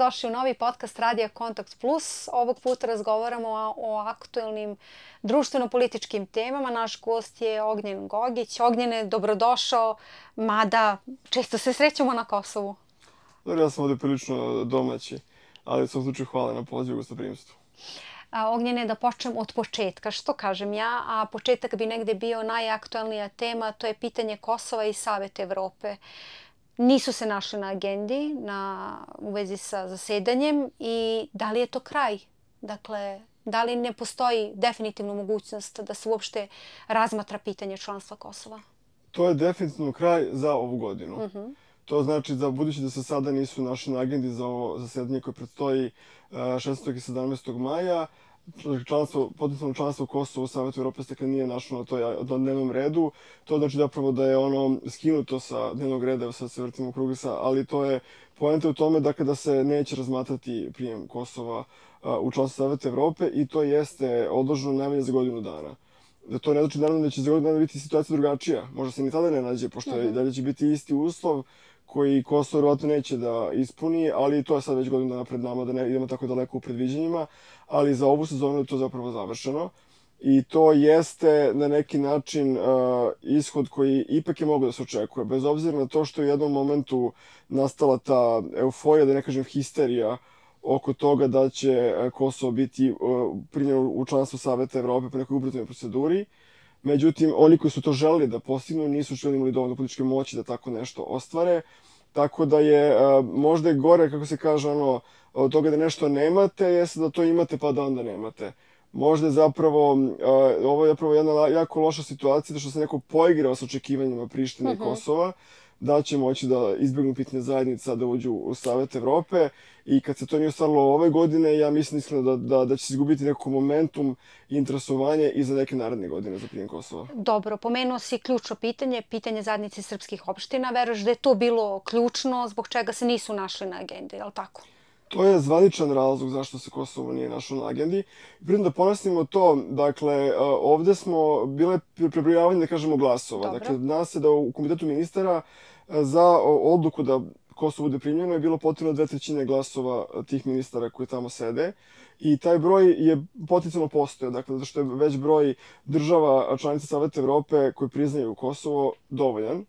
dobrodošli u novi podcast Radija Kontakt Plus. Ovog puta razgovaramo o aktuelnim društveno-političkim temama. Naš gost je Ognjen Gogić. Ognjene, dobrodošao, mada često se srećemo na Kosovu. Dobro, ja sam ovdje prilično domaći, ali u svom slučaju hvala na pozivu gostoprimstvu. Ognjene, da počnem od početka. Što kažem ja? A početak bi negde bio najaktuelnija tema, to je pitanje Kosova i Savet Evrope. Nisu se našli na agendi u vezi sa zasedanjem i da li je to kraj? Dakle, da li ne postoji definitivno mogućnost da se uopšte razmatra pitanje članstva Kosova? To je definitivno kraj za ovu godinu. To znači da budući da se sada nisu našli na agendi za ovo zasedanje koje predstoji 16. i 17. maja, potencijalno članstvo Kosova u Savetu Evrope nije našlo na dnevnom redu. To znači zapravo da je ono skinuto sa dnevnog reda, sad se vrtimo u krugu, ali to je poenta u tome da se neće razmatrati prijem Kosova u članstvo Saveta Evrope i to jeste odloženo najmanje za godinu dana. To ne znači naravno da će za godinu dana biti situacija drugačija. Možda se ni tada ne nađe, pošto dalje će biti isti uslov koji Kosovo vjerovatno neće da ispuni, ali to je sad već godinu dana pred nama, da ne idemo tako daleko u predviđanjima, ali za ovu sezonu je to zapravo završeno. I to jeste na neki način ishod koji ipak je mogao da se očekuje, bez obzira na to što je u jednom momentu nastala ta euforija, da ne kažem histerija, oko toga da će Kosovo biti primljeno u članstvo Saveta Evrope po nekoj ubrzanoj proceduri. Međutim, oni koji su to želeli da postignu nisu imali dovoljno političke moći da tako nešto ostvare. Tako da je možda gore, kako se kaže, od toga da nešto nemate, jeste da to imate pa da onda nemate. Možda je ovo je zapravo jedna jako loša situacija, da što se neko poigrao s očekivanjima Prištine i Kosova, da će moći da izbjegnu pitanje zajednica, da uđu u Savet Evrope. I kad se to nije ostvarilo ove godine, ja mislim iskreno da će se izgubiti neko momentum i interesovanje i za neke naredne godine za prijem Kosova. Dobro, pomenuo si ključno pitanje zajednice srpskih opština. Veruješ da je to bilo ključno, zbog čega se nisu našli na agendi, je li tako? To je zvaničan razlog zašto se Kosovo nije našlo na agendi. Pritom da ponosimo to, dakle, ovdje smo bile prebrojavanje, da kažemo, glasova. Dobro. Dakle, zna se da u Komitetu ministara za odluku da Kosovo bude primljeno je bilo potrebno 2/3 glasova tih ministara koji tamo sede. I taj broj je potencijalno postojao, dakle, zato što je već broj država članica Saveta Evrope koji priznaju Kosovo dovoljan.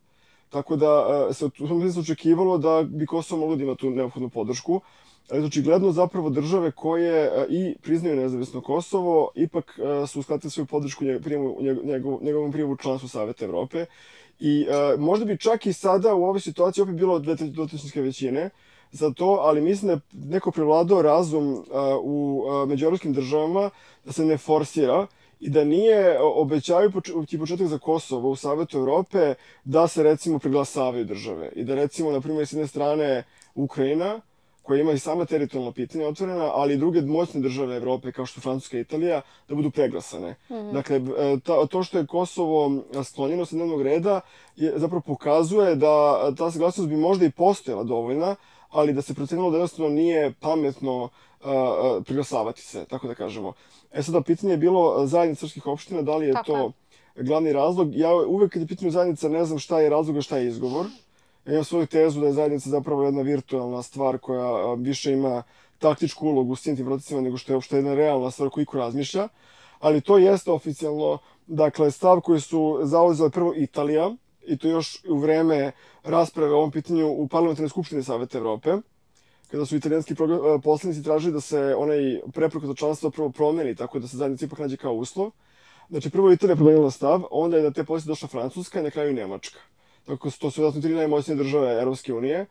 Tako da se u tom smislu očekivalo da bi Kosovo moglo da ima tu neophodnu podršku. Ali očigledno zapravo države koje i priznaju nezavisno Kosovo ipak su uskratili svoju podršku njegovom prijemu u članstvu Saveta Evrope. I možda bi čak i sada u ovoj situaciji opet bilo dvotrećinske većine za to, ali mislim da je neko prevladao razum u međuevropskim državama da se ne forsira i da nije obećavajući početak za Kosovo u Savetu Evrope da se recimo preglasavaju države. I da recimo, na primjer, s jedne strane Ukrajina, koja ima i sama teritorijalno pitanje otvorena, ali i druge moćne države Evrope, kao što Francuska i Italija, da budu preglasane. Dakle, to što je Kosovo sklonjeno sa dnevnog reda zapravo pokazuje da ta saglasnost bi možda i postojala dovoljna, ali da se procenilo da jednostavno nije pametno preglasavati se, tako da kažemo. Sada, pitanje je bilo zajednica srpskih opština, da li je to glavni razlog. Ja uvek kad je pitanje zajednica ne znam šta je razlog, a šta je izgovor. Ja imam svoju tezu da je zajednica zapravo jedna virtualna stvar koja više ima taktičku ulogu u svim tim procesima nego što je uopšte jedna realna stvar koju iko razmišlja. Ali to jeste oficijalno, dakle, stav koji su zauzeli prvo Italija, i to još u vreme rasprave o ovom pitanju u Parlamentarnoj skupštini Saveta Evrope, kada su italijanski poslanici tražili da se onaj preporuka za članstvo prvo promeni, tako da se zajednica ipak nađe kao uslov. Znači, prvo Italija promenila stav, onda je na te pozicije došla Francuska i na kraju Nemačka. Tako, to su vjerojatno 3 najmoćnije države Europske unije,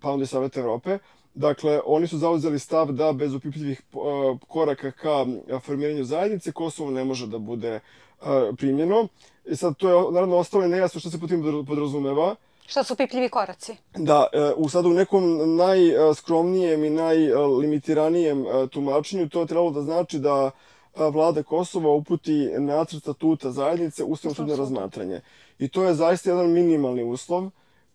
pa onda i Saveta Evrope. Dakle, oni su zauzeli stav da bez opipljivih koraka ka formiranju zajednice Kosovo ne može da bude primljeno. I sad to je naravno ostalo nejasno što se po tim podrazumeva. Šta su opipljivi koraci? Da, sada u nekom najskromnijem i najlimitiranijem tumačenju to je trebalo da znači da vlada Kosova uputi nacrt statuta zajednice Ustavnom sudu na razmatranje. I to je zaista jedan minimalni uslov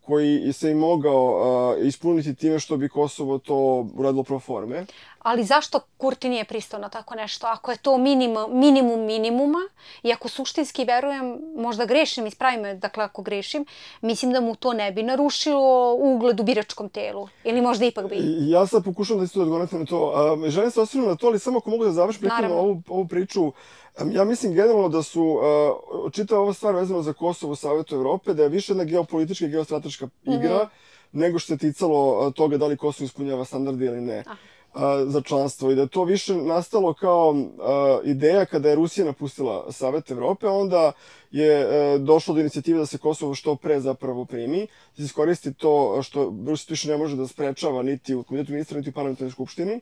koji se i mogao ispuniti time što bi Kosovo to uradilo pro forme. Ali zašto Kurti nije pristao na tako nešto? Ako je to minimum minimuma i ako suštinski verujem, možda grešim, ispravi me, dakle ako grešim, mislim da mu to ne bi narušilo ugled u biračkom telu. Ili možda ipak bi? Ja sad pokušam da isto odgovorite na to. Želim se osvrnuti na to, ali samo ako mogu da završim pritom ovu priču. Ja mislim generalno da su čitava ova stvar vezana za Kosovo u Savetu Evrope, da je više jedna geopolitička i geostrateška igra nego što se ticalo toga da li Kosovo ispunjava standarde ili ne za članstvo. I da je to više nastalo kao ideja kada je Rusija napustila Savet Evrope, onda je došlo do inicijative da se Kosovo što pre zapravo primi, da se iskoristi to što Rusija više ne može da sprečava niti u komitetu ministra, niti u parlamentarnoj skupštini.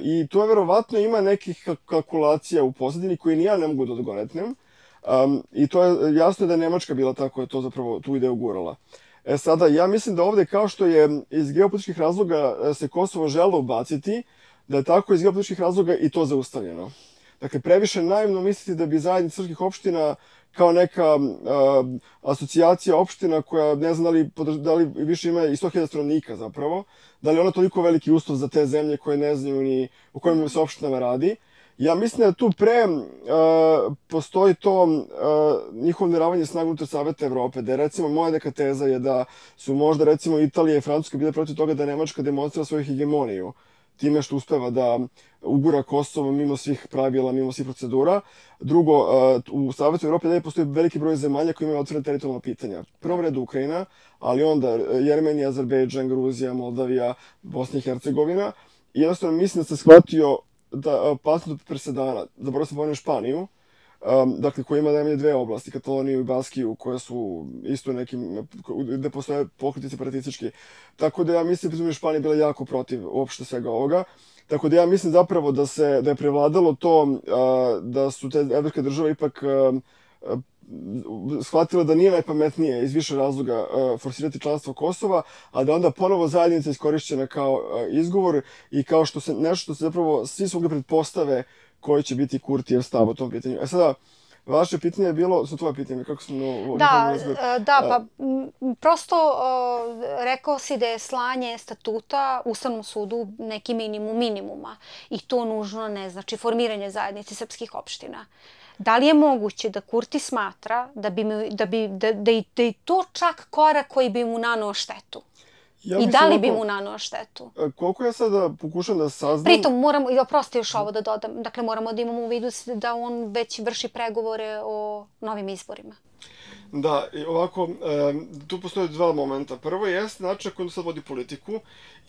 I to je verovatno ima nekih kalkulacija u pozadini koje ni ja ne mogu da odgonetnem. I to je jasno da je Nemačka bila ta koja je to zapravo tu ideju gurala. Sada, ja mislim da ovde kao što je iz geopolitičkih razloga se Kosovo želo ubaciti, da je tako iz geopolitičkih razloga i to zaustavljeno. Dakle, previše naivno misliti da bi zajednica srpskih opština kao neka asocijacija opština koja ne znam da li više ima i 100.000 stanovnika zapravo, da li je ona toliko veliki uslov za te zemlje koje ne znaju ni u kojim se opštinama radi. Ja mislim da tu postoji to njihovo neravanje snaga unutar Saveta Evrope, da je recimo moja neka teza je da su možda recimo Italija i Francuska bile protiv toga da Nemačka demonstrira svoju hegemoniju time što uspeva da ugura Kosovo mimo svih pravila, mimo svih procedura. Drugo, u Savetu Evrope dalje postoji veliki broj zemalja koji imaju otvorene teritorijalna pitanja. Prvo redu Ukrajina, ali onda Jermenija, Azerbejdžan, Gruzija, Moldavija, Bosna i Hercegovina. I jednostavno mislim da se shvatio da opasnost od presedana, zapravo sam pomenuo Španiju, dakle koja ima najmanje dve oblasti, Kataloniju i Baskiju, koje su isto nekim, gde postoje pokreti separatistički. Tako da ja mislim da je Španija bila jako protiv uopšte svega ovoga. Tako da ja mislim zapravo da je prevladalo to da su te evropske države ipak shvatile da nije najpametnije iz više razloga forsirati članstvo Kosova, a da onda ponovo zajednica iskorišćena kao izgovor i kao što se nešto što se zapravo svi svogde pretpostave koji će biti Kurtijev stav o tom pitanju. Sada, vaše pitanje je bilo, su tvoje pitanje, kako sam... Pa prosto rekao si da je slanje statuta Ustavnom sudu neki minimum minimuma i to nužno ne znači formiranje zajednice srpskih opština. Da li je moguće da Kurti smatra da je to čak korak koji bi mu naneo štetu? I da li bi mu naneo štetu? Koliko ja sada pokušam da saznam... Pritom, oprosti još ovo da dodam, dakle moramo da imamo u vidu da on već vrši pregovore o novim izborima. Da, i ovako, tu postoje dva momenta. Prvo jeste način na koji on sad vodi politiku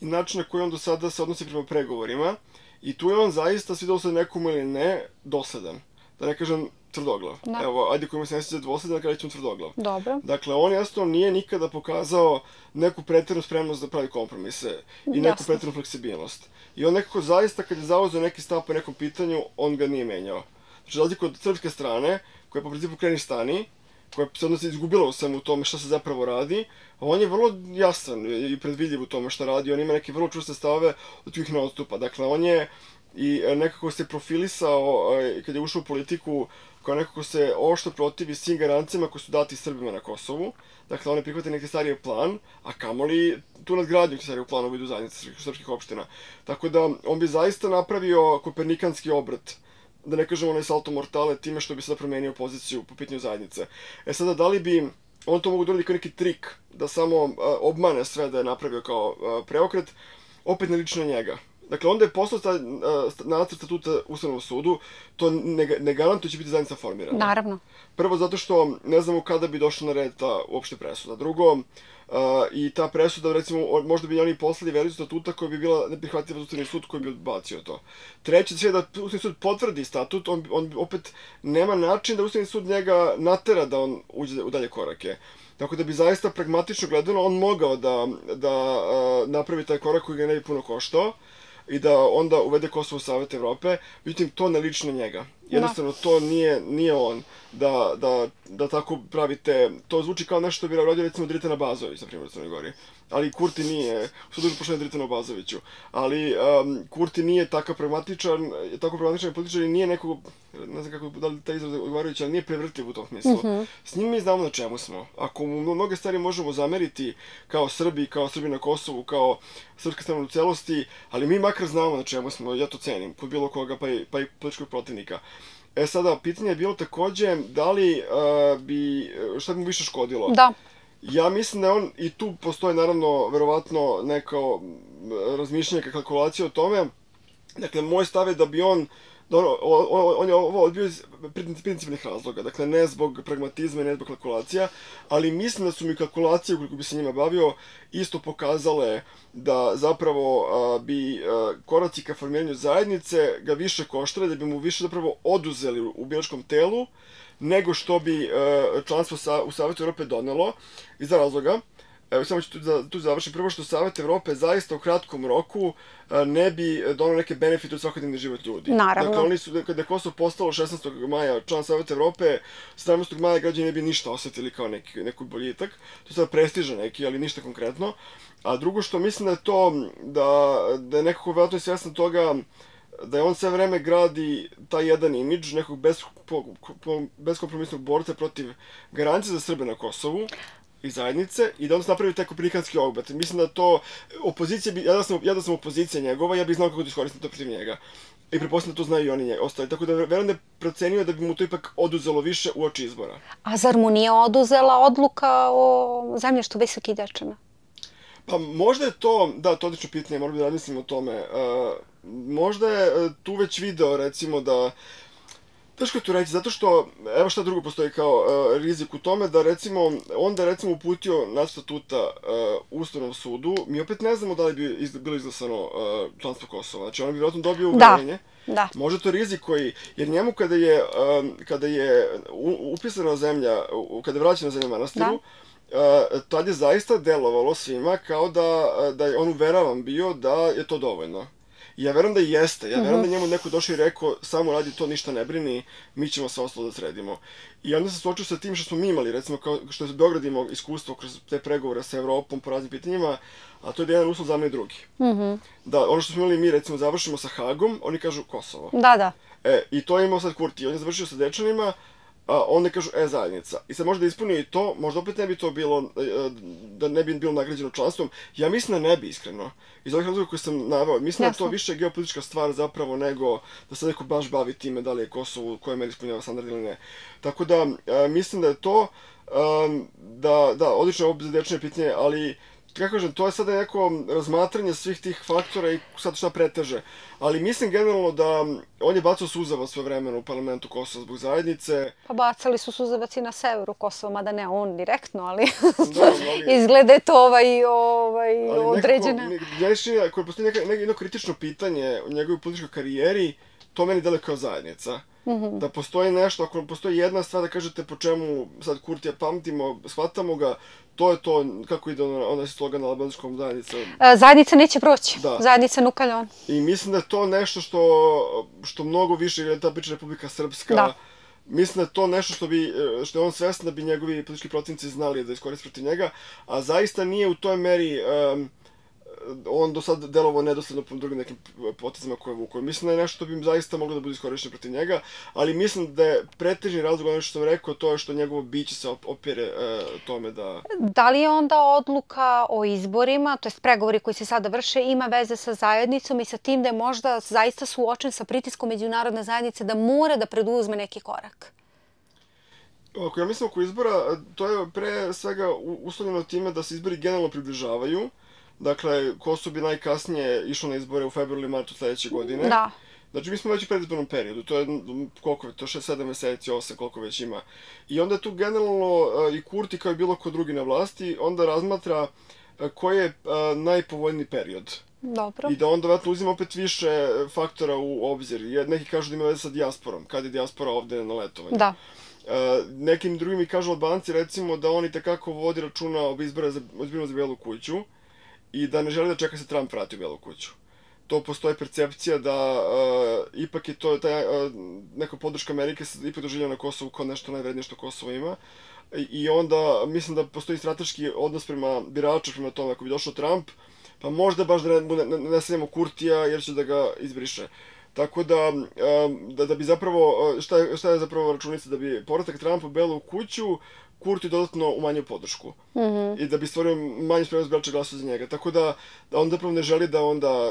i način na koji on do sada se odnosi prema pregovorima. I tu je on zaista, svidelo se nekomu ili ne, dosledan. Da ne kažem tvrdoglav. Evo, ajde koji mu se ne sviđa dvosledan, kada ćemo tvrdoglav. Dobro. Dakle, on jednostavno nije nikada pokazao neku pretjeranu spremnost da pravi kompromise i neku pretjeranu fleksibilnost. I on nekako zaista, kad je zauzeo neki stav po nekom pitanju, on ga nije menjao. Znači, razliku od srpske strane, koja je po principu kreni stani, koja se odnosno izgubila u svemu tome šta se zapravo radi, on je vrlo jasan i predvidljiv u tome šta radi, on ima neke vrlo čvrste stavove od kojih ne odstupa. Dakle, on je i nekako se profilisao kad je ušao u politiku kao nekako se oštro protivi svim garancijama koje su dati Srbima na Kosovu. Dakle, on je prihvatio neki stariji plan, a kamoli tu nadgradnju stariju planu u vidu zajednice srpskih opština. Tako da, on bi zaista napravio kopernikanski obrat, da ne kažemo onaj salto mortale, time što bi sada promenio poziciju po pitanju zajednice. Sada, da li bi on to mogu donijeti kao neki trik, da samo obmane sve da je napravio kao preokret, opet ne liči na njega. Dakle, onda je poslao nacrt statuta Ustavnog sudu, to ne garantuje će biti zajednica formirana. Naravno. Prvo, zato što ne znamo kada bi došla na red ta uopšte presuda. Drugo, i ta presuda, recimo, možda bi oni poslali verziju statuta koja bi bila neprihvatljiva za Ustavni sud koji bi odbacio to. Treće, sve da Ustavni sud potvrdi statut, on opet nema način da Ustavni sud njega natera da on uđe u dalje korake. Tako da bi zaista pragmatično gledano on mogao da napravi taj korak koji ga ne bi puno koštao i da onda uvede Kosovo u Savet Evrope, međutim, to ne liči na njega. Jednostavno, to nije on da tako pravite, to zvuči kao nešto što bi radio recimo Dritan Abazović, na primjer, u Crnoj Gori. ali Kurti nije, što duže poštovanje Dritanu Obazoviću, ali Kurti nije tako pragmatičan političar i nije nekog, ne znam kako da li taj izraz odgovarajući, ali nije prevrtljiv u tom smislu. S njim mi znamo na čemu smo. Ako mu mnoge stvari možemo zameriti kao Srbi na Kosovu, kao srpska strana u celosti, ali mi makar znamo na čemu smo, ja to cenim, kod bilo koga, pa i političkog protivnika. Sada, pitanje je bilo takođe da li šta bi mu više škodilo? Da. Ja mislim da on, i tu postoji naravno verovatno neko razmišljanje, kalkulacija o tome. Dakle, moj stav je da bi on je ovo odbio iz principnih razloga, dakle ne zbog pragmatizma, ne zbog kalkulacija, ali mislim da su mi kalkulacije, ukoliko bi se njima bavio, isto pokazale da zapravo bi koraci ka formiranju zajednice ga više koštale, da bi mu više zapravo oduzeli u biračkom telu, nego što bi članstvo u Savetu Evrope donelo, iz razloga. Evo, samo ću tu završiti. Prvo što Savet Evrope zaista u kratkom roku ne bi donao neke benefite u svakodnevni život ljudi. Naravno. Dakle, oni su, kada je Kosovo postalo 16. maja član Saveta Evrope, 17. maja građani ne bi ništa osjetili kao neki boljitak. To je sad prestižan neki, ali ništa konkretno. A drugo što mislim da je to, da je nekako verovatno svjestan toga da je on sve vreme gradi taj jedan imidž nekog beskompromisnog borca protiv garancije za Srbe na Kosovu i zajednice, i da onda se napravi taj kopernikanski obrat. Mislim da to opozicija, ja da sam opozicija njegova, ja bih znao kako da iskoristim to protiv njega. I pretpostavljam da to znaju i oni ostali. Tako da verujem da je procenio da bi mu to ipak oduzelo više uoči izbora. A zar mu nije oduzela odluka o zemljištu Visokih Dečana? Pa možda je to, da, to je odlično pitanje, moram da razmislim o tome. Možda je tu već video, recimo, da... Teško je tu reći, zato što, evo šta drugo postoji kao rizik u tome, da recimo, onda je recimo uputio nacrt statuta Ustavnom sudu, mi opet ne znamo da li bi bilo izglasano članstvo Kosova, znači on bi vjerojatno dobio uverenje. Da. Možda to rizik koji, jer njemu kada je upisana zemlja, kada je vraćena zemlja manastiru, tad je zaista delovalo svima kao da je on uveravan bio da je to dovoljno. Ja verujem da jeste, ja verujem da njemu neko došao i rekao samo radi to, ništa ne brini, mi ćemo sve ostalo da sredimo. I onda se suočio sa tim što smo mi imali, recimo kao što je Beograd imao iskustvo kroz te pregovore sa Evropom po raznim pitanjima, a to je da jedan uslov zameni drugi. Da, ono što smo imali mi, recimo, završimo sa Hagom, oni kažu Kosovo. Da. I to je imao sad Kurti, on je završio sa Dečanima, onda kažu zajednica. I sad možda ispunio i to, možda opet ne bi to bilo, da ne bi bilo nagrađeno članstvom. Ja mislim da ne bi, iskreno. Iz ovih razloga koje sam naveo. Mislim da je to više geopolitička stvar zapravo nego da se neko baš bavi time da li je Kosovo u kojoj meri ispunjava standard ili ne. Tako da, mislim da je to, da, odlično je ovo Dečanje pitanje, ali kako kažem, to je sada neko razmatranje svih tih faktora i sad šta preteže. Ali mislim generalno da on je bacao suzavac sve vremena u parlamentu Kosova zbog zajednice. Pa bacali su suzavac i na severu Kosova, mada ne on direktno, ali izgleda je to određena. Ako postoji jedno kritično pitanje u njegovoj političkoj karijeri, to meni deluje kao zajednica. Da postoji nešto, ako postoji jedna stvar da kažete po čemu sad Kurtija pamtimo, shvatamo ga, to je to, kako ide onaj slogan na albanskom zajednica. Zajednica neće proći, zajednica nukaljon. I mislim da je to nešto što mnogo više, jer je ta priča Republika Srpska, mislim da je to nešto što je on svestan da bi njegovi politički protivnici znali da iskoriste protiv njega, a zaista nije u toj meri on do sad delovao nedosledno po drugim nekim potezima koje vuku. Mislim da je nešto što bi im zaista moglo da bude iskorišćeno protiv njega, ali mislim da je pretežni razlog ono što sam rekao, to je što njegovo biće se opere tome da... Da li je onda odluka o izborima, to jest pregovori koji se sada vrše, ima veze sa zajednicom i sa tim da je možda zaista suočen sa pritiskom međunarodne zajednice da mora da preduzme neki korak? Ako ja mislim oko izbora, to je pre svega uslovljeno time da se izbori generalno približavaju. Dakle, Kosovo bi najkasnije išlo na izbore u februaru ili martu sledeće godine. Da. Znači, mi smo već u predizbornom periodu, to je, koliko je to, 6-7 meseci, 8, koliko već ima. I onda je tu generalno i Kurti, kao i bilo ko drugi na vlasti, onda razmatra koji je najpovoljniji period. Dobro. I da onda vratno uzima opet više faktora u obzir. Neki kažu da ima veze sa dijasporom, kad je dijaspora ovde na letovanju. Da. Nekim drugim mi kažu Albanci, recimo, da oni tekako vodi računa o izborima za Belu kuću i da ne želi da čeka se Trump vrati u Belu kuću. to postoji percepcija da ipak je to neka podrška Amerike se ipak doživljava na Kosovu kao nešto najvrednije što Kosovo ima. I onda mislim da postoji strateški odnos prema biraču, prema tome. Ako bi došao Trump, pa možda baš da ne stavimo Kurtija jer će da ga izbriše. Tako da bi zapravo, šta je zapravo računica, da bi povratak Trumpa u Belu kuću Kurti dodatno umanjio podršku. I da bi stvorio manju spremnost birača glasova za njega. Tako da on zapravo ne želi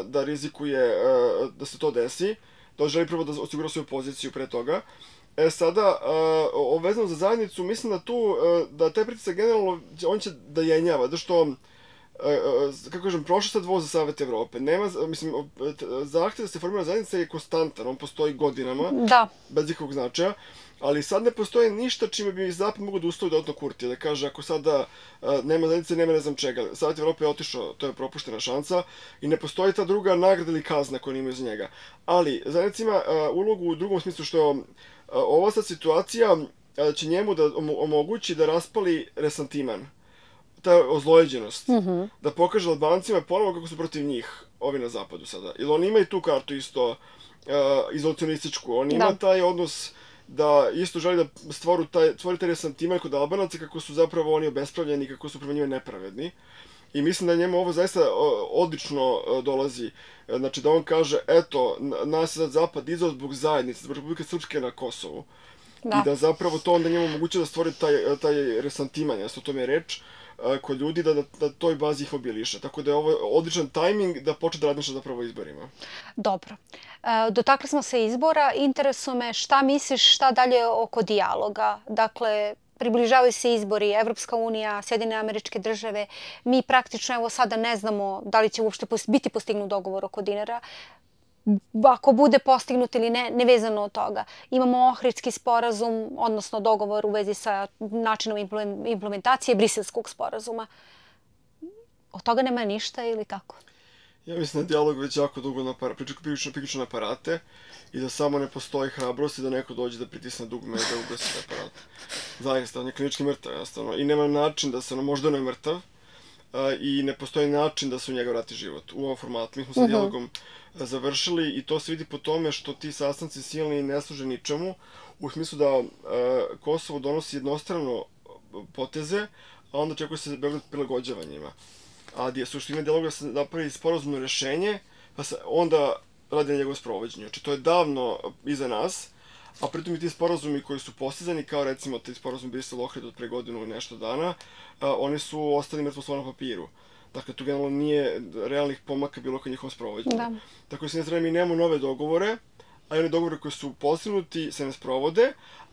da rizikuje da se to desi, da on želi prvo da osigura svoju poziciju pre toga. Sada, vezano za zajednicu, mislim da taj pritisak generalno, on će da jenjava, da što, kako kažem, prošao sad voz za Savet Evrope. Zahtev da se formira zajednica je konstantan, on postoji godinama, bez ikakvog značaja, ali sad ne postoji ništa čime bi Zapad mogo da ustavi dodatno Kurtija, da kaže ako sada nema zajednice, nema ne znam čega. Savet Evrope je otišao, to je propuštena šansa i ne postoji ta druga nagrada ili kazna koju imaju za njega. Ali zajednica ima ulogu u drugom smislu što ova sad situacija će njemu da omogući da raspali resantiman, ta ozlojeđenost, da pokaže Albancima ponovo kako su protiv njih ovi na zapadu sada. Jer oni imaju tu kartu isto izolacionističku, oni ima taj odnos da isto želi da stvori taj resantiman kod Albanaca kako su zapravo oni obespravljeni, kako su prema njima nepravedni. I mislim da njemu ovo zaista odlično dolazi. Znači da on kaže, eto, nas je sad Zapad izao zbog zajednice, zbog Republike Srpske na Kosovu. I da zapravo to onda njemu omoguće da stvori taj resantiman, jasno o tome je reč, kod ljudi da toj bazi ih mobiliše. Tako da je ovo odličan tajming da počne da razmišlja zapravo o izborima. Dobro. Dotakli smo se izbora. Interesuje me šta misliš, šta dalje oko dijaloga? Dakle, približavaju se izbori, Evropska unija, Sjedinjene Američke Države. Mi praktično evo sada ne znamo da li će uopšte biti postignut dogovor oko dinara. Ako bude postignut ili ne, nevezano od toga. Imamo Ohridski sporazum, odnosno dogovor u vezi sa načinom implementacije Briselskog sporazuma. Od toga nema ništa ili kako? Ja mislim da dijalog već jako dugo priključio na aparate i da samo ne postoji hrabrost i da neko dođe da pritisne dugme i da ugasi aparat. Zaista, on je klinički mrtav, jednostavno. I nema način da se, možda on je mrtav, i ne postoji način da se u njega vrati život u ovom formatu. Mi smo sa dijalogom završili i to se vidi po tome što ti sastanci silni ne služe ničemu, u smislu da Kosovo donosi jednostrano poteze, a onda čekuje se Beograd prilagođava njima. A suština dijaloga se napravi sporazumno rešenje, pa se onda radi na njegovom sprovođenju. Znači, to je davno iza nas, a pritom i ti sporazumi koji su postizani, kao recimo ti sporazum Brisel-Ohrid od pre godinu i nešto dana, oni su ostali mrtvo slovo na papiru. Dakle, tu generalno nije realnih pomaka bilo kod njihovom sprovođenju. Tako da s jedne strane mi nemamo nove dogovore, a i one dogovore koji su postignuti se ne sprovode,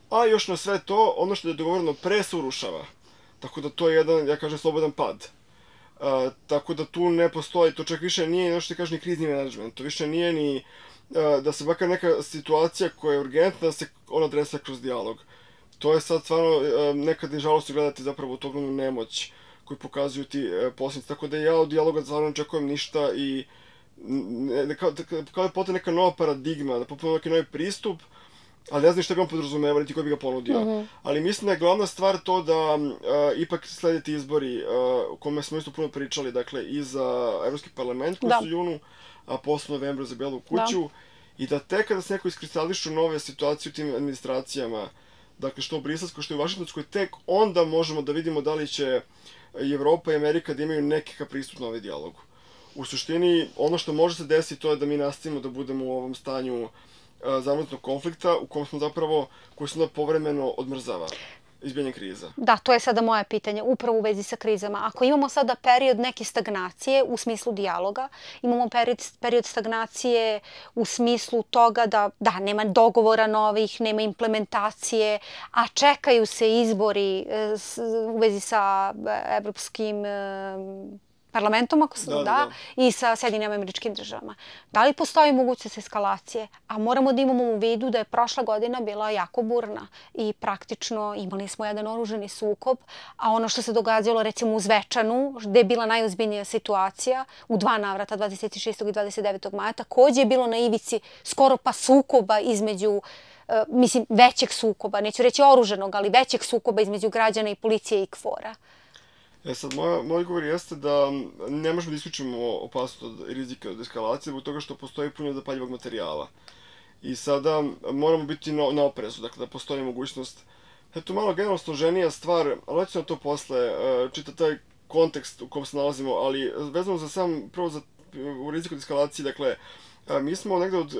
a još na sve to, ono što je dogovoreno pre se urušava. Tako da to je jedan, ja kažem, slobodan pad. Tako da tu ne postoji, to čak više nije nešto što kaže ni krizni menadžment, to više nije ni da se makar neka situacija koja je urgentna, da se ona adresa kroz dijalog. To je sad stvarno nekad je žalostno gledati zapravo tu ogromnu nemoć koju pokazuju ti posljednici. Tako da ja od dijaloga stvarno ne očekujem ništa i kao je potrebna neka nova paradigma, da potpuno neki novi pristup, ali ne znam šta bi on podrazumevali, ti koji bi ga ponudio. Ali mislim da je glavna stvar to da ipak slediti izbori o kome smo isto puno pričali, dakle i za Evropski parlament koji su u junu, a posle novembra za Belu kuću, i da tek kada se neko iskristališu nove situacije u tim administracijama, dakle što u Briselskoj, što u Vašingtonskoj, tek onda možemo da vidimo da li će i Evropa i Amerika da imaju nekakav pristup na ovaj dijalogu. U suštini, ono što može se desiti to je da mi nastavimo da budemo u ovom stanju zamrznutog konflikta u kom smo zapravo, koji se onda povremeno odmrzava izbijanje kriza. Da, to je sada moje pitanje, upravo u vezi sa krizama. Ako imamo sada period neke stagnacije u smislu dijaloga, imamo period stagnacije u smislu toga da nema dogovora novih, nema implementacije, a čekaju se izbori u vezi sa Evropskim parlamentom, ako se i sa Sjedinjenim Američkim Državama. Da li postoji mogućnost eskalacije? A moramo da imamo u vidu da je prošla godina bila jako burna i praktično imali smo jedan oružani sukob, a ono što se događalo recimo u Zvečanu, gde je bila najozbiljnija situacija, u 2 navrata, 26. i 29. maja, takođe je bilo na ivici skoro pa sukoba između, mislim, većeg sukoba, neću reći oruženog, ali većeg sukoba između građana i policije i KFOR-a. Sad, moj odgovor jeste da ne možemo da isključimo opasnost od rizika od eskalacije zbog toga što postoji puno zapaljivog materijala. I sada moramo biti na oprezu, dakle da postoji mogućnost. Eto, malo generalno složenija stvar, ali ću na to posle, čita taj kontekst u kom se nalazimo, ali vezano za sam, prvo u riziku od eskalacije, dakle, mi smo negde od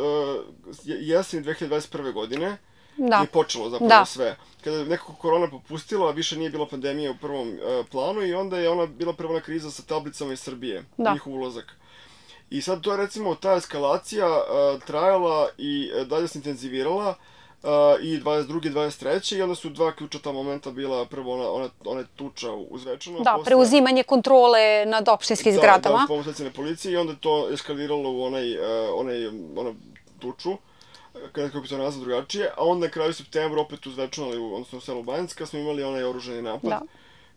jeseni 2021. godine je počelo zapravo sve. Kada je nekako korona popustila, više nije bila pandemija u prvom planu i onda je ona bila prva kriza sa tablicama iz Srbije, njihov ulazak. I sad to je recimo ta eskalacija trajala i dalje se intenzivirala i 22. i 23. i onda su dva ključata momenta bila prvo ona tuča u Zvečanu. Da, preuzimanje kontrole nad opštinskim zgradama. Da, pomoć specijalne policije i onda je to eskaliralo u onu tuču, kako bi to nazvao drugačije, a onda na kraju septembra opet u Zvečanu, odnosno u selu Banjska, smo imali onaj oružani napad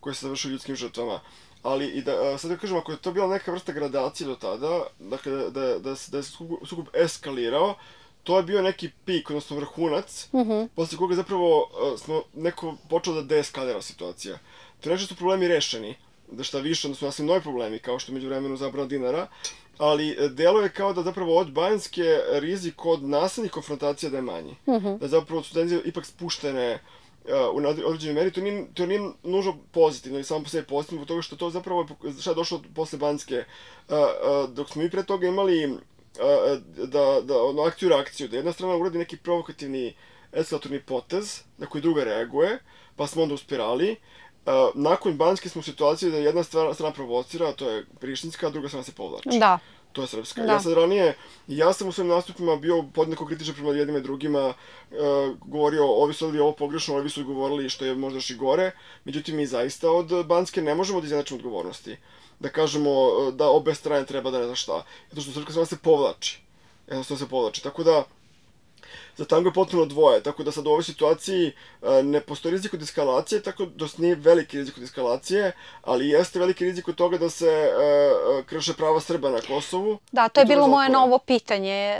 koji se završio ljudskim žrtvama. Ali, sad da kažem, ako je to bila neka vrsta gradacije do tada, dakle, da je sukob eskalirao, to je bio neki pik, odnosno vrhunac, posle koga zapravo smo neko počeo da deeskalira situacija. To je nešto što su problemi rešeni, da šta više, odnosno nastali novi problemi, kao što je među vremenu zabrana dinara, ali delo je kao da zapravo od Banjske rizik od nasilnih konfrontacija da je manji. Da zapravo su tenzije ipak spuštene u određenoj meri, to nije nužno pozitivno ili samo po sebi pozitivno, zbog toga što to zapravo šta je došlo posle Banjske, dok smo mi pre toga imali akciju reakciju, da jedna strana uradi neki provokativni eskalatorni potez na koji druga reaguje, pa smo onda uspirali. Nakon Banjske smo u situaciji da jedna strana provocira, a to je prištinska, a druga strana se povlači. Da. To je srpska. Ja sad ranije, ja sam u svojim nastupima bio podjednako kritičan prema jednima i drugima, govorio, ovi su ovo pogrešno, ovi su govorili što je možda još i gore, međutim mi zaista od Banjske ne možemo da izjednačimo odgovornosti. Da kažemo da obe strane treba da ne zna šta. Zato što srpska strana se povlači. Jednostavno se povlači. Tako da, za tango je potpuno dvoje, tako da sad u ovoj situaciji ne postoji rizik od eskalacije, tako da nije veliki rizik od eskalacije, ali jeste veliki rizik od toga da se krše prava Srba na Kosovu. Da, to je bilo moje novo pitanje,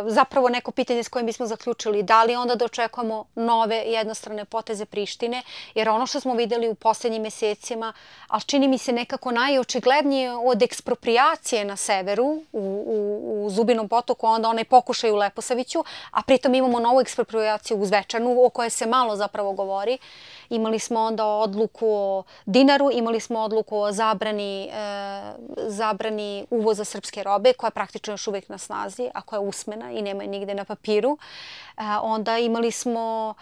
zapravo neko pitanje s kojim bismo zaključili, da li onda da očekujemo nove jednostrane poteze Prištine, jer ono što smo videli u poslednjim mesecima, ali čini mi se nekako najočiglednije od ekspropriacije na severu, u Zubinom Potoku, onda onaj pokušaj u Leposaviću, a pritom imamo novu ekspropriaciju u Zvečanu, o kojoj se malo zapravo govori. Imali smo onda odluku o dinaru, imali smo odluku o zabrani uvoza srpske robe, koja je praktično još uvijek na snazi, a koja je usmena i nema je nigde na papiru. Onda imali smo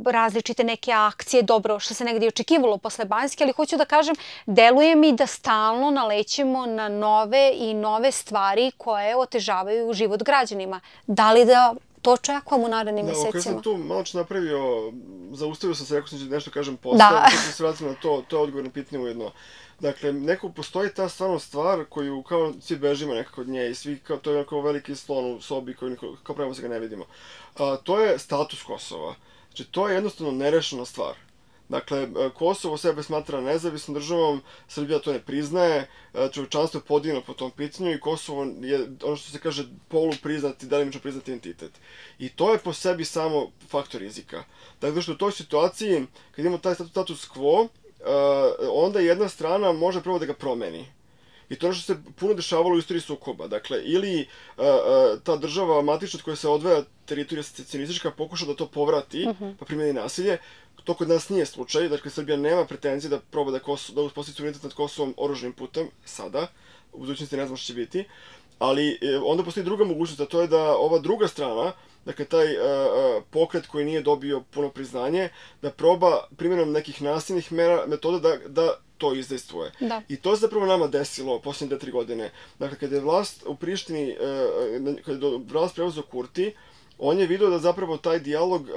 različite neke akcije, dobro, što se negdje očekivalo posle Banjske, ali hoću da kažem, deluje mi da stalno nalećemo na nove i nove stvari koje otežavaju život građanima. Da li da to očekujemo u narednim mesecima? Da, kada sam tu malo što napravio, zaustavio sam se, rekao sam da nešto kažem posle, da se vratim na to, to je odgovor na pitanje ujedno. Dakle, neko postoji ta stvarno stvar koju kao svi bežimo nekako od nje i svi, to je kao veliki slon u sobi koji kao pravimo se ga ne vidimo. To je status Kosova. Znači, to je jednostavno nerešena stvar. Dakle, Kosovo sebe smatra nezavisnom državom, Srbija to ne priznaje, čovječanstvo je podignuto po tom pitanju i Kosovo je, ono što se kaže, polupriznati, delimično priznati entitet. I to je po sebi samo faktor rizika. Dakle, što u toj situaciji, kad imamo taj status quo, onda jedna strana može prvo da ga promeni. I to je što se puno dešavalo u istoriji sukoba. Dakle, ili ta država matična od koja se odvaja teritorija secesionistička pokuša da to povrati, pa primjeni nasilje. To kod nas nije slučaj, dakle Srbija nema pretenzije da proba da uspostavi suverenitet nad Kosovom oružanim putem, sada, u budućnosti ne znam što će biti, ali onda postoji druga mogućnost, a to je da ova druga strana, dakle taj pokret koji nije dobio puno priznanje, da proba primjenom nekih nasilnih metoda da to izdejstvuje. I to se zapravo nama desilo posljednje 2-3 godine. Dakle, kada je vlast u Prištini, kada je vlast preuzeo Kurti, on je vidio da zapravo taj dijalog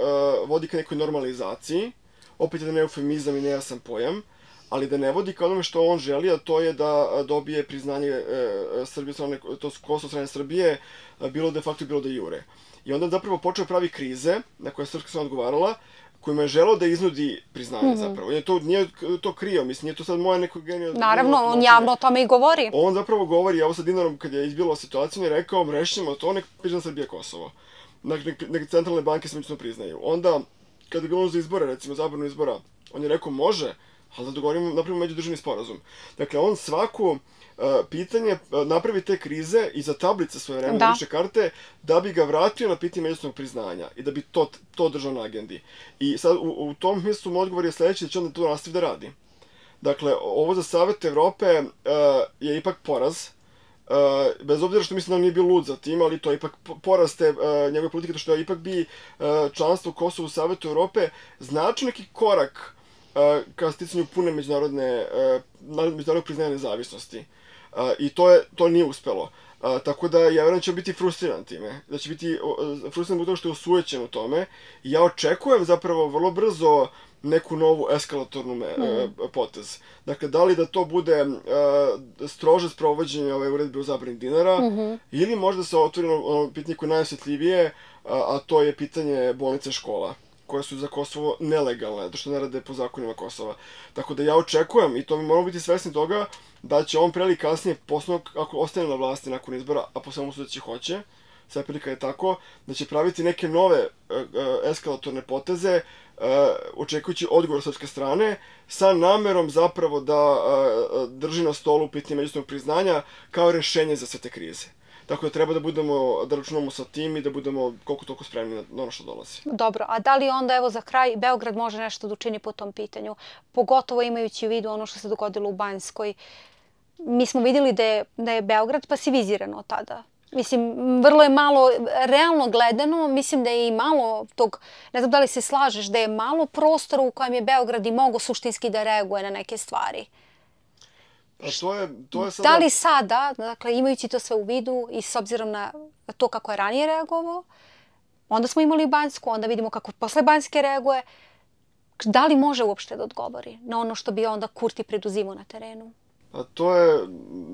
vodi ka nekoj normalizaciji, opet jedan eufemizam i nejasan pojam, ali da ne vodi ka onome što on želi, a to je da dobije priznanje Srbije, to je Kosovo strane Srbije, bilo de facto, bilo de jure. I onda zapravo počeo pravi krize, na koje je srpska strana odgovarala, kojima je želeo da iznudi priznanje zapravo. Nije to krio, mislim, nije to sad moja neko genijal... Naravno, on javno o tome i govori. On zapravo govori, evo sa dinarom, kad je izbila situacija, on je rekao, rešimo to, nek prizna Srbija Kosovo. Neke centralne banke se međusobno priznaju. Onda, kada je bilo za izbore, recimo zabranu izbora, on je rekao može, ali da dogovorimo, napravimo međudržavni sporazum. Dakle, on svako pitanje napravi te krize i za tablice svoje vremena lične karte da bi ga vratio na pitanje međusobnog priznanja i da bi to držao na agendi. I sad u tom smislu odgovor je sledeći da će onda to nastavi da radi. Dakle, ovo za Savet Evrope je ipak poraz. Bez obzira što mislim da on nije bio lud za tim, ali to je ipak poraz te njegove politike, što ipak bi članstvo Kosova u Savetu Evrope značio neki korak ka sticanju pune međunarodnog priznanja nezavisnosti. I to nije uspelo. Tako da ja vjerujem da će biti frustriran time. Da će biti frustriran zbog toga što je osujećen u tome. I ja očekujem zapravo vrlo brzo neku novu eskalatornu potez. Dakle, da li da to bude strože sprovođenje ove uredbe o zabrani dinara, ili možda se otvori ono pitanje koje je najosjetljivije, a to je pitanje bolnice škola, koje su za Kosovo nelegalne, zato što ne rade po zakonima Kosova. Tako da ja očekujem, i to mi moramo biti svesni toga, da će on pre ili kasnije, posebno ako ostane na vlasti nakon izbora, a po svemu sudeći hoće, sve prilika je tako, da će praviti neke nove eskalatorne poteze, očekujući odgovor srpske strane, sa namerom zapravo da drži na stolu pitanje međusobnog priznanja kao rešenje za sve te krize. Tako da treba da računamo sa tim i da budemo koliko toliko spremni na ono što dolazi. Dobro, a da li onda, evo za kraj, Beograd može nešto da učini po tom pitanju? Pogotovo imajući u vidu ono što se dogodilo u Banjskoj. Mi smo vidjeli da je Beograd pasiviziran od tada. Mislim, vrlo je malo, realno gledano, mislim da je i malo tog, ne znam da li se slažeš, da je malo prostora u kojem je Beograd i mogao suštinski da reaguje na neke stvari. To je sada... Da li sada, dakle, imajući to sve u vidu i s obzirom na to kako je ranije reagovao, onda smo imali Banjsku, onda vidimo kako posle Banjske reaguje, da li može uopšte da odgovori na ono što bi onda Kurti preduzimao na terenu? A to je,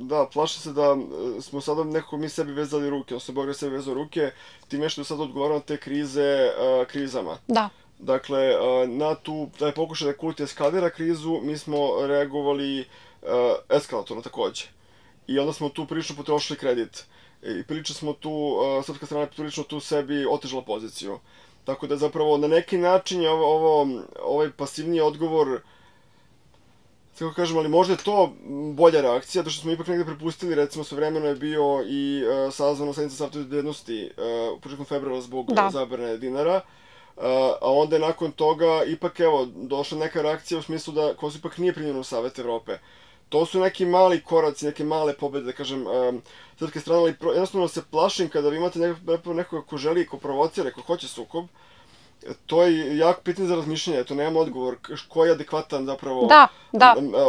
da, plašim se da smo sada nekako mi sebi vezali ruke, odnosno Beograd sebi vezao ruke, time što je sad odgovarao na te krize krizama. Da. Dakle, na taj pokušaj da Kurti eskalira krizu, mi smo reagovali eskalatorno takođe. I onda smo tu prilično potrošili kredit. I prilično smo tu, srpska strana je prilično tu sebi otežala poziciju. Tako da zapravo na neki način je ovaj pasivniji odgovor, kako kažem, ali možda je to bolja reakcija, zato što smo ipak negde prepustili, recimo svojevremeno je bio i sazvano sednica Saveta bezbednosti u početkom februara zbog zabrane dinara, a onda je nakon toga ipak, evo, došla neka reakcija u smislu da Kosovo ipak nije primljeno u Savet Evrope. To su neki mali koraci, neke male pobede, da kažem, srpske strane, ali jednostavno se plašim kada vi imate nekoga ko želi, ko provocira, ko hoće sukob. To je jako pitanje za razmišljanje, to nemamo odgovor. Koji je adekvatan zapravo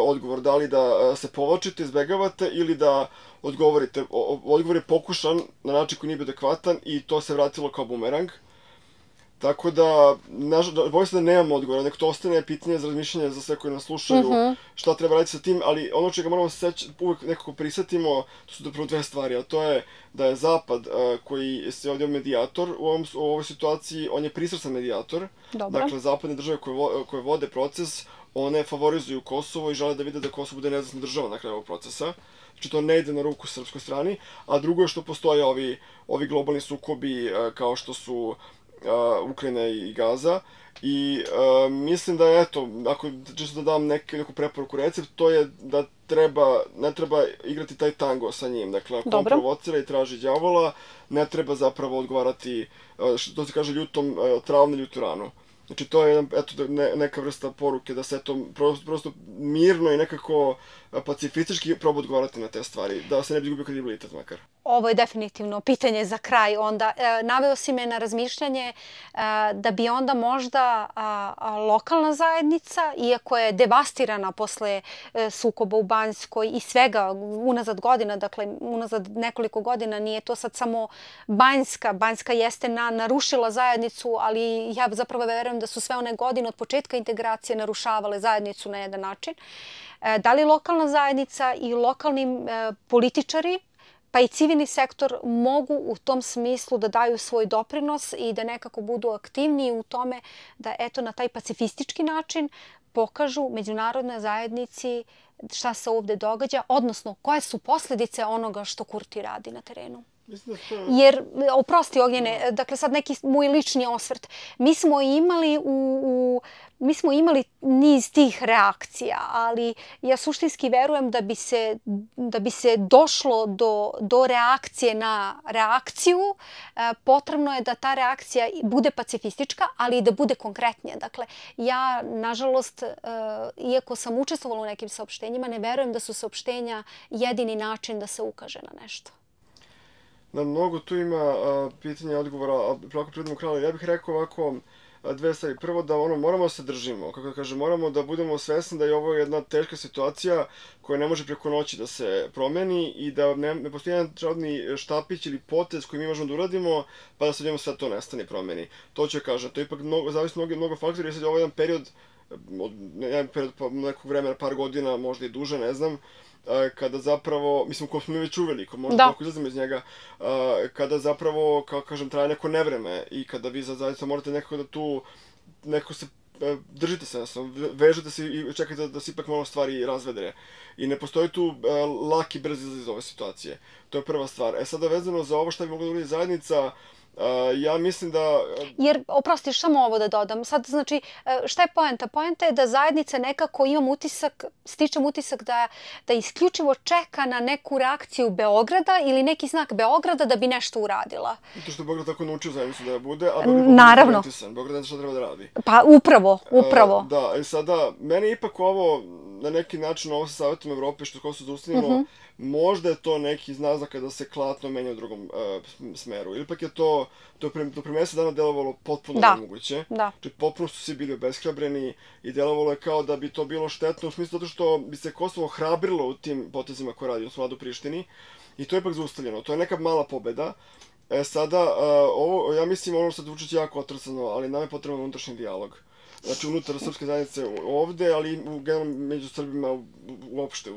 odgovor? Da li da se povlačite, izbegavate ili da odgovorite? Odgovor je pokušan na način koji nije bio adekvatan i to se vratilo kao bumerang. Tako da, bojim se da nemamo odgovora, nek to ostane pitanje za razmišljanje za sve koji nas slušaju, šta treba raditi sa tim, ali ono čega moramo se uvek nekako prisjetimo, to su zapravo dve stvari, a to je da je Zapad, koji se ovdje medijator u ovoj situaciji, on je pristrasan medijator. Dakle, zapadne države koje vode proces, one favorizuju Kosovo i žele da vide da Kosovo bude nezavisna država na kraju ovog procesa. Znači, to ne ide na ruku srpskoj strani, a drugo je što postoje ovi globalni sukobi kao što su Ukrajina i Gaza. I mislim da, eto, ako čisto da dam neku preporuku, recept, to je da ne treba igrati taj tango sa njim. Dakle, ako on provocira i traži đavola, ne treba zapravo odgovarati, što se kaže, ljutom travne ljutu ranu. Znači, to je neka vrsta poruke da se to prosto mirno i nekako pacifistički proba odgovarati na te stvari, da se ne bi izgubio kredibilitet makar. Ovo je definitivno pitanje za kraj. Onda naveo si me na razmišljanje da bi onda možda lokalna zajednica, iako je devastirana posle sukoba u Banjskoj i svega unazad godina, dakle unazad nekoliko godina, nije to sad samo Banjska. Banjska jeste narušila zajednicu, ali ja zapravo verujem da su sve one godine od početka integracije narušavale zajednicu na jedan način. Da li lokalna zajednica i lokalni političari pa i civilni sektor mogu u tom smislu da daju svoj doprinos i da nekako budu aktivniji u tome da eto na taj pacifistički način pokažu međunarodnoj zajednici šta se ovdje događa, odnosno koje su posljedice onoga što Kurti radi na terenu? Jer, oprosti Ognjene, dakle sad neki moj lični osvrt. Mi smo imali niz tih reakcija, ali ja suštinski verujem da bi se došlo do reakcije na reakciju, potrebno je da ta reakcija bude pacifistička, ali i da bude konkretnija. Dakle, ja, nažalost, iako sam učestvovala u nekim saopštenjima, ne verujem da su saopštenja jedini način da se ukaže na nešto. Da, mnogo tu ima pitanja i odgovora, a preko prirodnog krala, ja bih rekao ovako dve stvari. Prvo da moramo da se držimo, kako da kažem, moramo da budemo svesni da je ovo jedna teška situacija koja ne može preko noći da se promeni i da ne postoji jedan čarobni štapić ili potez koji mi možemo da uradimo pa da se odjednom sve to nestane i promeni. To ću kažem, to je ipak zavisi mnogo faktora, jer sad je ovo jedan period pa nekog vremena, par godina, možda i duže, ne znam, kada zapravo, mislim, ko smo mi već uveli, ko možda ako izlazimo iz njega, kada zapravo, kao kažem, traje neko nevreme i kada vi zaista morate nekako da tu, nekako se držite se, vežete se i čekajte da se ipak malo stvari razvedre. I ne postoji tu laki, brz izlaz iz ove situacije. To je prva stvar. Sada vezano za ovo šta bi mogla da uradi zajednica, ja mislim da... Jer, oprostiš, samo ovo da dodam. Sad, znači, šta je poenta? Poenta je da zajednica nekako stičem utisak da isključivo čeka na neku reakciju Beograda ili neki znak Beograda da bi nešto uradila. Zato što je Beograd tako naučio zajednicu da bude, a Beograd je pritisan. Beograd ne zna šta treba da radi. Pa, upravo. Da, i sada, meni ipak ovo, na neki način, ovo sa Savjetom Evrope, što Kosovo zaustavljeno, možda je to neki znazak da se klatno menja u drugom smeru. Ili pak je to do pre mesec dana delovalo potpuno nemoguće. Znači, potpuno su svi bili obeshrabreni i delovalo je kao da bi to bilo štetno, u smislu zato što bi se Kosovo hrabrilo u tim potezima koje radi, odnosno Vlada u Prištini. I to je ipak zaustavljeno. To je neka mala pobeda. Sada, ovo, ja mislim, ono sad zvuči jako otrcano, ali nam je potreban unutrašnji dijalog. Znači, unutar srpske zajednice ovde, ali i generalno među Srbima uopšte,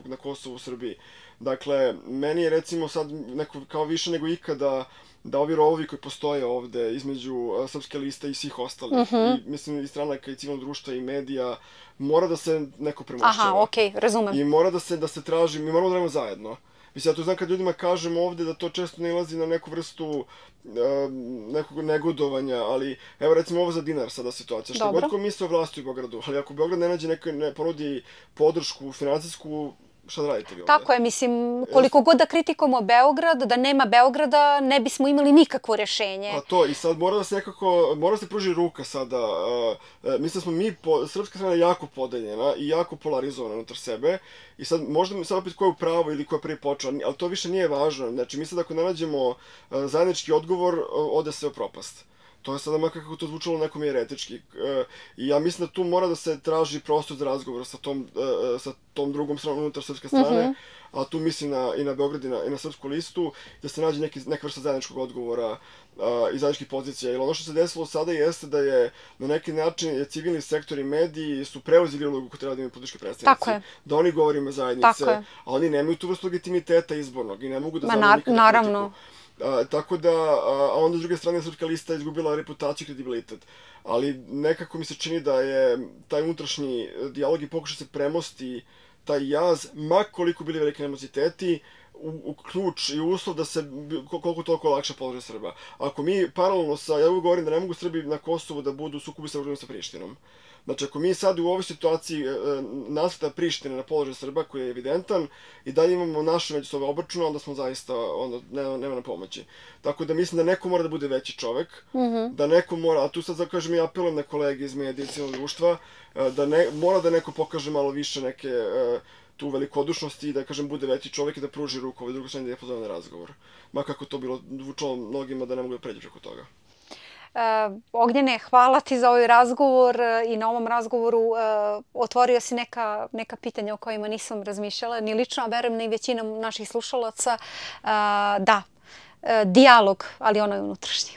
na Kosovu, u Srbiji. Dakle, meni je recimo sad neko kao više nego ikada da ovi rovovi koji postoje ovde između Srpske liste i svih ostalih, i mislim i stranaka i civilnog društva i medija, mora da se neko premošćava. Aha, okej, razumem. I mora da se traži, mi moramo da radimo zajedno. Mislim, ja to znam kad ljudima kažem ovde da to često nailazi na neku vrstu nekog negodovanja, ali evo recimo ovo za dinar sada situacija. Što god ko misle o vlasti u Beogradu, ali ako Beograd ne ponudi podršku finansijsku, šta da radite vi ovde? Tako je, mislim, koliko god da kritikujemo Beograd, da nema Beograda, ne bismo imali nikakvo rješenje. Pa to, i sad mora da se nekako, mora da se pruži ruka sada. Mislim da smo mi, srpska strana, jako podeljena i jako polarizovana unutar sebe. I sad, možda sad opet ko je u pravu ili ko je prvi počeo, ali to više nije važno. Znači, mi sad ako ne nađemo zajednički odgovor, ode sve u propast. To je sada makar kako to zvučalo nekom jeretički. I ja mislim da tu mora da se traži prostor za razgovor sa tom drugom stranom unutar srpske strane, a tu mislim i na Beograd i na Srpsku listu, da se nađe neka vrsta zajedničkog odgovora i zajedničkih pozicija. Jer ono što se desilo sada jeste da je na neki način civilni sektor i mediji su preuzeli ulogu koju treba da imaju politički predstavnici. Da oni govore ime zajednice, a oni nemaju tu vrstu legitimiteta izbornog i ne mogu da zamenu nikada politiku. Tako da, a onda s druge strane Srpska lista izgubila reputaciju i kredibilitet. Ali nekako mi se čini da je taj unutrašnji dijalog i pokuša se premosti taj jaz, ma koliko bili velike animoziteti, u ključ i uslov da se koliko toliko lakše polože Srba. Ako mi paralelno ja uvijek govorim da ne mogu Srbi na Kosovu da budu u sukobu sa Prištinom. Znači, ako mi sad u ovoj situaciji nasveta Prištine na položaj Srba, koji je evidentan, i dalje imamo naše međusobne obračune, onda smo zaista, onda nema na pomoći. Tako da mislim da neko mora da bude veći čovek, da neko mora, a tu sad kažem i apelujem na kolege iz medija i civilnog društva, da mora da neko pokaže malo više neke tu velikodušnosti i da, kažem, bude veći čovek i da pruži ruku ovoj drugoj strani da je pozove na razgovor. Ma kako to bilo zvučalo mnogima da ne mogu da pređu preko toga. Ognjene, hvala ti za ovaj razgovor i na ovom razgovoru otvorio si neka pitanja o kojima nisam razmišljala, ni lično, a verujem ni većina naših slušalaca. Da, dijalog, ali ono je unutrašnji.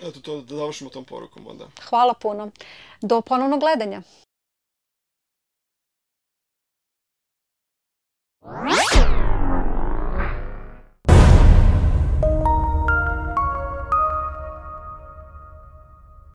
Eto, to da završimo tom porukom onda. Hvala puno. Do ponovnog gledanja.